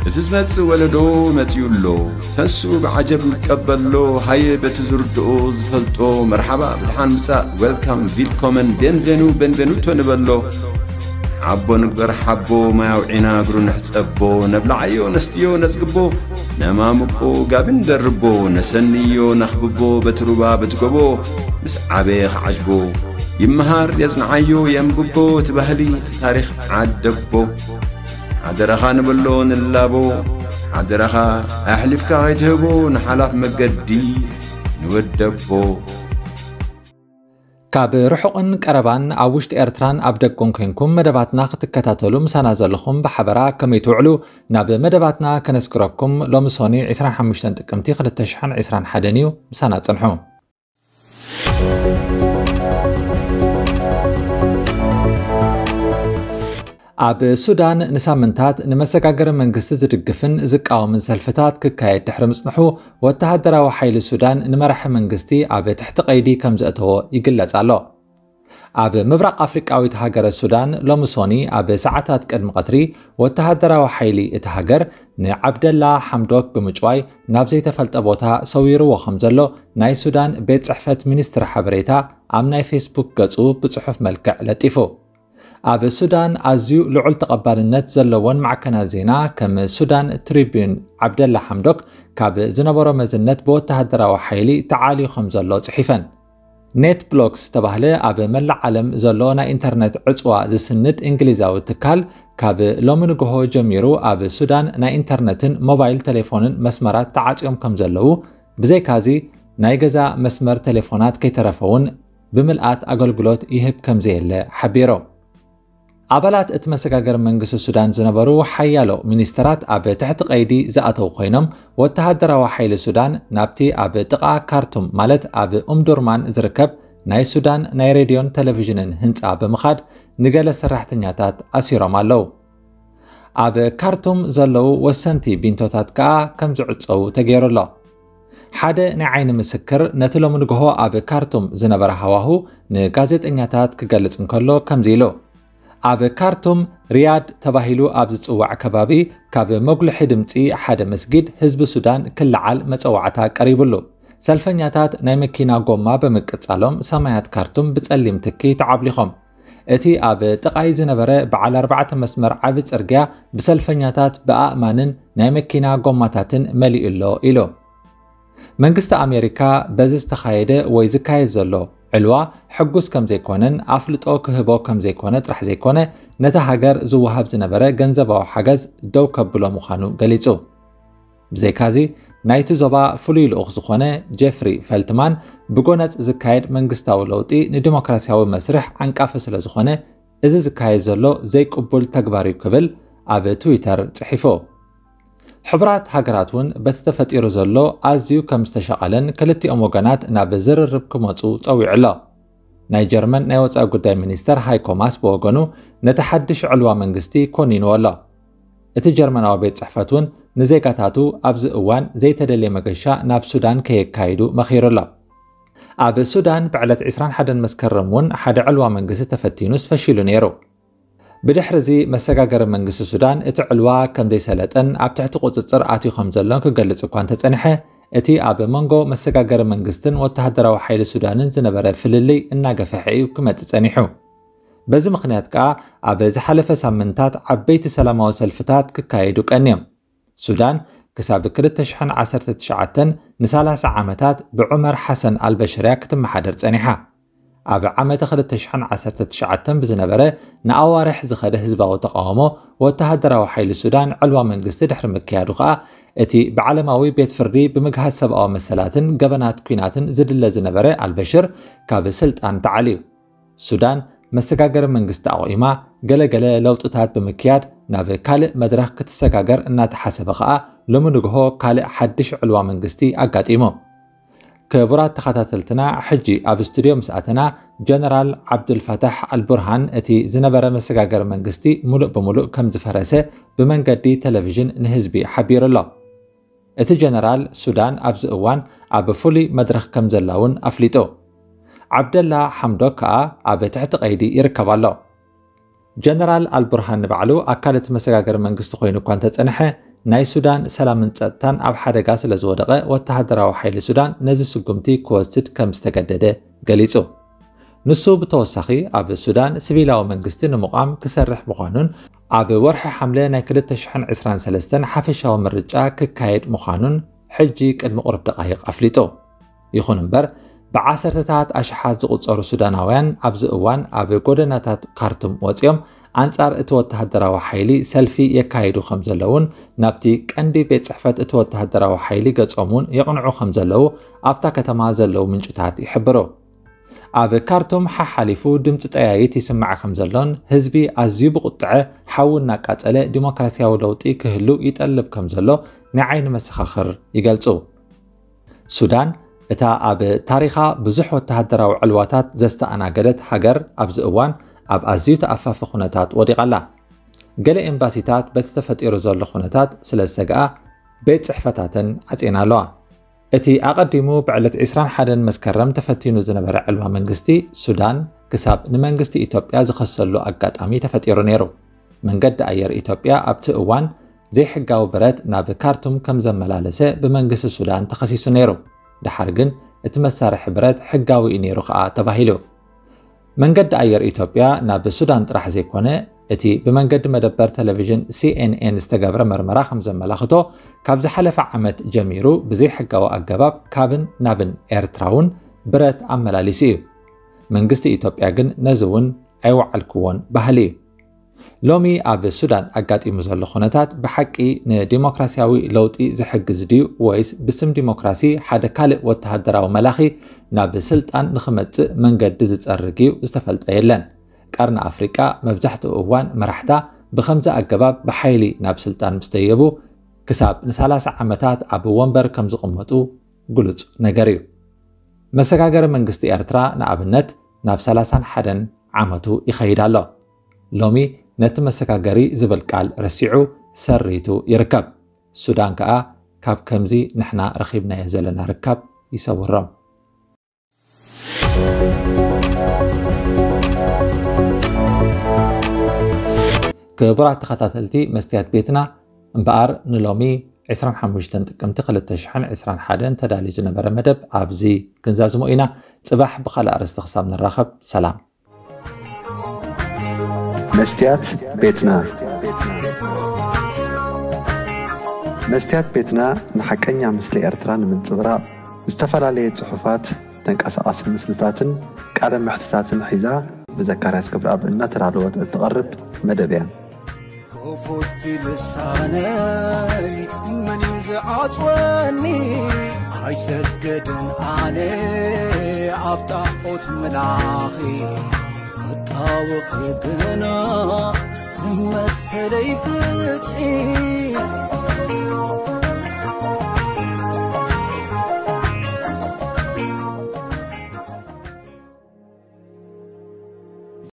እቲ ዝመጽእ ወለዶ መጺኡ ኣሎ። ተንስኡ ብዓጀብ ንቀበሎ። ሃየ በቲ ዝርድኦ ዝፈልጦ መርሓባ ብድሓን ምጻእ፣ ዌልካም፣ ቪልኮመን፣ ቤንቬኑ፣ ቤንቬኑቶ ንበሎ። ሓቦ ንግበር ሓቦ፣ ማይ ኣውዒና እግሩ ንሕጸቦ። ነብልዓዮ ነስትዮ ነጽግቦ፣ ነማምቆ ጋቢ ንደርቦ። ነሰንዮ ነኽብቦ በቲ ሩባ በቲ ጎቦ። ምስ ዓበየ ክዓጅቦ፣ ይመሃር የጽንዓዮ የንብቦ። እቲ ባህሊ እቲ ታሪኽ ዓደቦ። ሓደራኻ ንበሎ ንላቦ፣ ሓደራኻ ኣሕሊፍካ ከይትህቦ ንሓላፍ መገዲ ንወደቦ። ካብ ርሑቕን ቀረባን ኣብ ውሽጢ ኤርትራን ኣብ ደገን ኮንኩም መደባትና ክትከታተሉ ምሳና ዘለኹም ብሓበራ ከመይ ትውዕሉ ናብ መደባትና ከነስግረኩም። ሎሚ ሶኒ ዕስራን ሓሙሽተን ጥቅምቲ ክልተ ሽሕን ዕስራን ሓደን እዩ። ምሳና ጽንሑ። ኣብ ሱዳን ንሳምንታት ንመሰጋገሪ መንግስቲ ዝድግፍን ዝቃወምን ሰልፍታት ክካየድ ድሕሪ ምጽንሑ፣ ወተሃደራዊ ሓይሊ ሱዳን ንመራሒ መንግስቲ ኣብ ትሕቲ ቀይዲ ከም ዘእተዎ ይግለጽ ኣሎ። ኣብ ምብራቕ ኣፍሪቃዊት ሃገረ ሱዳን ሎሚ ሶኒ ኣብ ሰዓታት ቅድሚ ቀትሪ ወተሃደራዊ ሓይሊ እቲ ሃገር ንዓብደላ ሓምዶክ ብምጭዋይ ናብ ዘይተፈልጠ ቦታ ሰዊርዎ ከም ዘሎ ናይ ሱዳን ቤት ጽሕፈት ሚኒስትሪ ሓበሬታ ኣብ ናይ ፌስቡክ ገጹ ብጽሑፍ መልክዕ ለጢፉ። ኣብ ሱዳን ኣዝዩ ልዑል ተቐባልነት ዘለዎን ማዕከናት ዜና ከም ሱዳን ትሪቢዩን፣ ዓብደላ ሓምዶክ ካብ ዝነበሮ መዝነት ብወተሃደራዊ ሓይሊ ተዓልዩ ከም ዘሎ ጽሒፈን። ኔት ብሎክስ ዝተባህለ ኣብ መላእ ዓለም ዘሎ ናይ ኢንተርነት ዕጽዋ ዝስንድ እንግሊዛዊ ትካል፣ ካብ ሎሚ ንግሆ ጀሚሩ ኣብ ሱዳን ናይ ኢንተርነትን ሞባይል ቴሌፎንን መስመራት ተዓጽዮም ከም ዘለዉ፣ ብዘይካዚ ናይ ገዛ መስመር ቴሌፎናት ከይተረፈ እውን ብምልኣት ኣገልግሎት ይህብ ከም ዘየለ ሓቢሩ። ኣባላት እቲ መሰጋገሪ መንግስቲ ሱዳን ዝነበሩ ሓያሎ ሚኒስተራት ኣብ ትሕቲ ቀይዲ ዝኣተዉ ኮይኖም፣ ወተሃደራዊ ሓይሊ ሱዳን ናብቲ ኣብ ጥቓ ካርቱም፣ ማለት ኣብ ኡምዱርማን ዝርከብ ናይ ሱዳን ናይ ሬድዮን ቴሌቪዥንን ህንጻ ብምኻድ ንገለ ሰራሕተኛታት ኣሲሮም ኣለዉ። ኣብ ካርቱም ዘለዉ ወሰንቲ ቢንቶታት ከኣ ከም ዝዕጸዉ ተገይሩ ኣሎ። ሓደ ናይ ዓይኒ ምስክር ነቲ ሎሚ ንግሆ ኣብ ካርቱም ዝነበረ ሃዋሁ ንጋዜጠኛታት ክገልጽ እንከሎ ከምዚ ኢሉ፣ ኣብ ካርቱም ሪያድ ተባሂሉ ኣብ ዝጽዋዕ ከባቢ ካብ መጉልሒ ድምጺ ሓደ መስጊድ ህዝቢ ሱዳን ክለዓል መጸዋዕታ ቀሪቡሉ። ሰልፈኛታት ናይ መኪና ጎማ ብምቅጻሎም ሰማያት ካርቱም ብጸሊም ትኪ ተዓብሊኾም። እቲ ኣብ ጥቓይ ዝነበረ በዓል ኣርባዕተ መስመር ዓቢ ጽርግያ ብሰልፈኛታት፣ ብኣእማንን ናይ መኪና ጎማታትን መሊኡ ኣሎ ኢሉ። መንግስቲ ኣሜሪካ በዚ ዝተኻየደ ወይ ዝካየድ ዘሎ ዕልዋ ሕጉስ ከም ዘይኮነን ኣፍልጦ ክህቦ ከም ዘይኮነ ጥራሕ ዘይኮነ፣ ነታ ሃገር ዝወሃብ ዝነበረ ገንዘባዊ ሓገዝ ደው ከብሎ ምዃኑ ገሊጹ። ብዘይካዚ፣ ናይቲ ዞባ ፍሉይ ልኡኽ ዝኾነ ጄፍሪ ፈልትማን፣ ብጎነጽ ዝካየድ መንግስታዊ ለውጢ ንዲሞክራሲያዊ መስርሕ ዓንቃፊ ስለ ዝኾነ፣ እዚ ዝካየድ ዘሎ ዘይቅቡል ተግባር እዩ ክብል ኣብ ትዊተር ጽሒፉ። ሕቡራት ሃገራት እውን በቲ ተፈጢሩ ዘሎ ኣዝዩ ከም ዝተሻቐለን ክልቲኦም ወገናት ናብ ዝርርብ ክመጹ ጸዊዑ ኣሎ። ናይ ጀርመን ናይ ወጻኢ ጉዳይ ሚኒስተር ሃይኮ ማስ ብወገኑ ነቲ ሓድሽ ዕልዋ መንግስቲ ኮኒንዎ ኣሎ። እቲ ጀርመናዊ ቤት ጽሕፈት እውን ንዜጋታቱ ኣብዚ እዋን ዘይተደልየ መገሻ ናብ ሱዳን ከየካይዱ መኺሩ ኣሎ። ኣብ ሱዳን ብዕለት ዕስራን ሓደን መስከረም እውን ሓደ ዕልዋ መንግስቲ ተፈቲኑስ ፈሺሉ ነይሩ። ብድሕሪ እዚ መሰጋገሪ መንግስቲ ሱዳን እቲ ዕልዋ ከም ዘይሰለጠን ኣብ ትሕቲ ቁጽጽር ኣትዩ ከም ዘሎን ክገልጽ እኳ እንተጸንሐ፣ እቲ ኣብ መንጎ መሰጋገሪ መንግስትን ወተሃደራዊ ሓይሊ ሱዳንን ዝነበረ ፍልልይ እናገፍሐ እዩ ክመጽእ ጸኒሑ። በዚ ምኽንያት ከኣ ኣብ ዝሓለፈ ሳምንታት ዓበይቲ ሰላማዊ ሰልፍታት ክካየዱ ቀንዮም። ሱዳን ክሳብ ክልተ ሽሕን ዓሰርተ ትሽዓተን ንሰላሳ ዓመታት ብዑመር ሓሰን ኣልበሽር እያ ክትመሓደር ጸኒሓ። ኣብ ዓመተ ክልተ ሽሕን ዓሰርተ ትሽዓተን ብዝነበረ ንኣዋርሕ ዝኸደ ህዝባዊ ተቓውሞ፣ ወተሃደራዊ ሓይሊ ሱዳን ዕልዋ መንግስቲ ድሕሪ ምክያዱ ከኣ፣ እቲ ብዓለማዊ ቤት ፍርዲ ብምግሃስ ሰብኣዊ መሰላትን ገበናት ኲናትን ዝድለ ዝነበረ ኣልበሽር ካብ ስልጣን ተዓልዩ። ሱዳን መሰጋገሪ መንግስቲ ኣቑማ፣ ገለገለ ለውጥታት ብምክያድ ናብ ካልእ መድረኽ ክትሰጋገር እናተሓሰበ ከኣ፣ ሎሚ ንግሆ ካልእ ሓድሽ ዕልዋ መንግስቲ ኣጋጢሙ። ክቡራት ተኸታተልትና፣ ሕጂ ኣብ ስቱድዮ ምስ ኣተና፣ ጀነራል ዓብዱልፋታሕ ኣልቡርሃን እቲ ዝነበረ መሰጋገሪ መንግስቲ ሙሉእ ብሙሉእ ከም ዝፈረሰ ብመንገዲ ቴሌቪዥን ንህዝቢ ሓቢሩ ኣሎ። እቲ ጀነራል፣ ሱዳን ኣብዚ እዋን ኣብ ፍሉይ መድረኽ ከም ዘላ እውን ኣፍሊጡ። ዓብደላ ሓምዶክ ከኣ ኣብ ትሕቲ ቀይዲ ይርከብ ኣሎ። ጀነራል ኣልቡርሃን ንባዕሉ ኣካል እቲ መሰጋገሪ መንግስቲ ኮይኑ እኳ እንተጸንሐ፣ ናይ ሱዳን ሰላምን ጸጥታን ኣብ ሓደጋ ስለ ዝወደቐ፣ ወተሃደራዊ ሓይሊ ሱዳን ነዚ ስጉምቲ ክወስድ ከም ዝተገደደ ገሊጹ። ንሱ ብተወሳኺ፣ ኣብ ሱዳን ሲቪላዊ መንግስቲ ንምቋም ክሰርሕ ምዃኑን ኣብ ወርሒ ሓምለ ናይ ክልተ ሽሕን ዕስራን ሰለስተን ሓፈሻዊ ምርጫ ክካየድ ምዃኑን ሕጂ ቅድሚ ቁሩብ ደቓይቕ ኣፍሊጡ። ይኹን እምበር፣ ብዓሰርተታት ኣሽሓት ዝቑጸሩ ሱዳናውያን ኣብዚ እዋን ኣብ ጎደናታት ካርቱም ወጺኦም ኣንጻር እቲ ወተሃደራዊ ሓይሊ ሰልፊ የካይዱ ከም ዘለውን፣ ናብቲ ቀንዲ ቤት ጽሕፈት እቲ ወተሃደራዊ ሓይሊ ገጾም እውን የቕንዑ ከም ዘለዉ ኣብታ ከተማ ዘለዉ ምንጭታት ይሕብሩ። ኣብ ካርቱም ሓሓሊፉ ድምጺ ጠያይት ይስማዕ ከም ዘሎን፣ ህዝቢ ኣዝዩ ብቁጥዐ ሓዊ እናቃጸለ ዲሞክራሲያዊ ለውጢ ክህሉ ይጠልብ ከም ዘሎ ናይ ዓይኒ መሰኻኽር ይገልጹ። ሱዳን፣ እታ ኣብ ታሪኻ ብዙሕ ወተሃደራዊ ዕልዋታት ዘስተኣናገደት ሃገር፣ ኣብዚ እዋን ኣብ ኣዝዩ ተኣፋፊ ኩነታት ወዲቓ ኣላ። ገለ ኤምባሲታት በቲ ተፈጢሩ ዘሎ ኩነታት ስለ ዝሰግኣ፣ ቤት ጽሕፈታተን ዓጽየን ኣለዋ። እቲ ኣቐዲሙ ብዕለት ዕስራን ሓደን መስከረም ተፈቲኑ ዝነበረ ዕልዋ መንግስቲ ሱዳን፣ ክሳብ ንመንግስቲ ኢትዮጵያ ዝኸሰሉ ኣጋጣሚ ተፈጢሩ ነይሩ። መንገዲ ኣየር ኢትዮጵያ ኣብቲ እዋን ዘይሕጋዊ ብረት ናብ ካርቱም ከም ዘመላለሰ ብመንግስቲ ሱዳን ተኸሲሱ ነይሩ። ደሓር ግን እቲ መሳርሒ ብረት ሕጋዊ እዩ ነይሩ ከኣ ተባሂሉ። መንገዲ ኣየር ኢትዮጵያ ናብ ሱዳን ጥራሕ ዘይኮነ፣ እቲ ብመንገዲ መደበር ቴሌቪዥን ሲ ኤን ኤን ዝተገብረ መርመራ ከም ዘመላኽቶ፣ ካብ ዝሓለፈ ዓመት ጀሚሩ ብዘይሕጋዊ ኣገባብ ካብን ናብን ኤርትራ እውን ብረት ኣመላሊሱ እዩ። መንግስቲ ኢትዮጵያ ግን ነዚ እውን ኣይወዓልክዎን በሃሊ እዩ። ሎሚ ኣብ ሱዳን ኣጋጢሙ ዘሎ ኩነታት ብሓቂ ንዲሞክራሲያዊ ለውጢ ዝሕግዝ ድዩ፣ ወይስ ብስም ዲሞክራሲ ሓደ ካልእ ወተሃደራዊ መላኺ ናብ ስልጣን ንኽመጽእ መንገዲ ዝጸርግ እዩ? ዝተፈልጠ የለን። ቀርኒ ኣፍሪቃ መብዛሕትኡ እዋን መራሕታ ብኸምዚ ኣገባብ ብሓይሊ ናብ ስልጣን ምስ ደየቡ፣ ክሳብ ንሰላሳ ዓመታት ኣብ ወንበር ከም ዝቕመጡ ግሉጽ ነገር እዩ። መሰጋገሪ መንግስቲ ኤርትራ ንኣብነት ናብ ሰላሳን ሓደን ዓመቱ ይኸይድ ኣሎ። ሎሚ ነቲ መሰጋገሪ ዝብል ቃል ረሲዑ ሰሪቱ ይርከብ። ሱዳን ከኣ ካብ ከምዚ ንሕና ረኺብናዮ ዘለና ርካብ ይሰውሮም። ክቡራት ተኸታተልቲ መስትያት ቤትና፣ እምበኣር ንሎሚ ዕስራን ሓሙሽተን ጥቅምቲ ክልተ ሽሕን ዕስራን ሓደን ተዳልዩ ዝነበረ መደብ ኣብዚ ክንዛዝሞ ኢና። ጽባሕ ብኻልእ ኣርእስቲ ክሳብ ንራኸብ፣ ሰላም። መስትያት ቤትና። መስትያት ቤትና ንሓቀኛ ምስሊ ኤርትራ ንምንጽብራቕ ዝተፈላለየ ጽሑፋት፣ ተንቀሳቓሲ ምስልታትን ቃለ መሕትታትን ሒዛ ብዘካርያስ ክብረኣብ እናተዳለወት እትቐርብ መደብ እያ። ክፉት ልሳነይ መን እዩ ዝዓጽወኒ? ኣይሰግድን ኣነ ኣብ ጣዖት ምላኺ፣ ክጣወኺ ግና ንመሰለይ ፍትሒ።